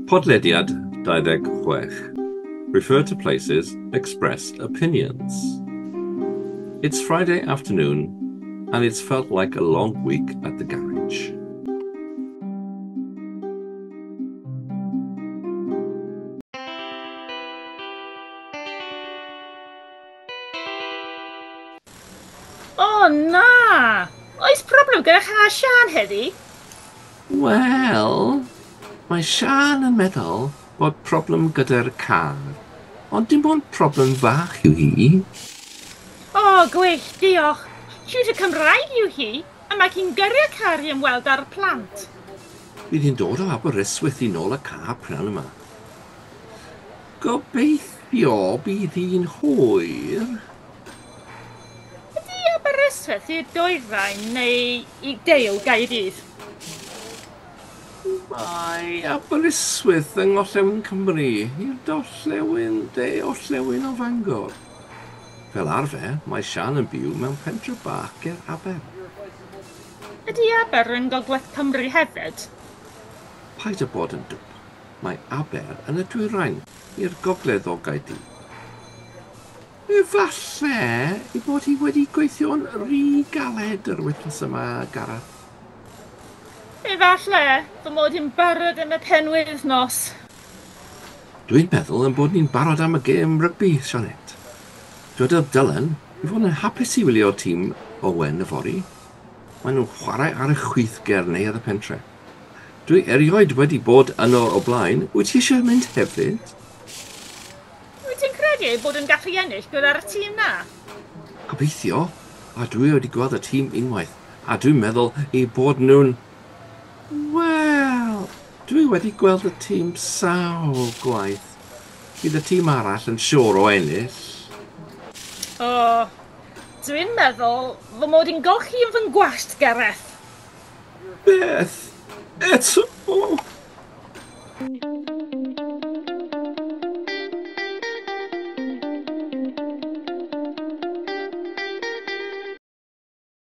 Podlediad 26. Refer to places, express opinions. It's Friday afternoon and it's felt like a long week at the garage. O na! Oes problem gyda car Siân heddi? Wel, mae Siân yn meddwl bod problem gyda'r car, ond dim ond problem fach yw hi. O, gwych, diolch. Tiwtor Cymraeg yw hi, a mae hi'n gyrru'r car i ymweld â'r plant. Bydd hi'n dod o Aberystwyth i nôl y car prynhawn yma. Gobeithio bydd hi'n hwyr. Ydy Aberystwyth i'r dwyrain neu i de o Gaerdydd? Mae Aberystwyth yng Ngorllewin Cymru, i'r gorllewin de orllewin o Fangor. Fel arfer, mae Siân yn byw mewn pentre bach ger Aber. Ydy Aber yn Gogledd Cymru hefyd? Paid â bod yn dwp. Mae Aber yn y dwyrain, i'r gogledd o Gaerdydd. Efallai ei bod hi wedi gweithio'n rhy galed yr wythnos yma, Gareth. Efallai fy mod i'n barod am y penwythnos. Dwi'n meddwl ein bod ni'n barod am y gêm rygbi, Sioned. Dwedodd Dylan ei fod yn hapus i wylio'r tîm Owen yfory. Maen nhw'n chwarae ar y chwith ger neuadd y pentre. Dwi erioed wedi bod yno o blaen. Wyt ti eisiau mynd hefyd? Wyt ti'n credu ei bod yn gallu ennill gyda'r tîm 'na? Gobeithio, a dwi wedi gweld y tîm unwaith, a dwi'n meddwl eu bod nhw'n... Wel, dwi wedi gweld y tîm sawl gwaith. Bydd y tîm arall yn siŵr o ennill. O, dwi'n meddwl fy mod i'n golchi yn fy ngwallt, Gareth. Beth? Eto?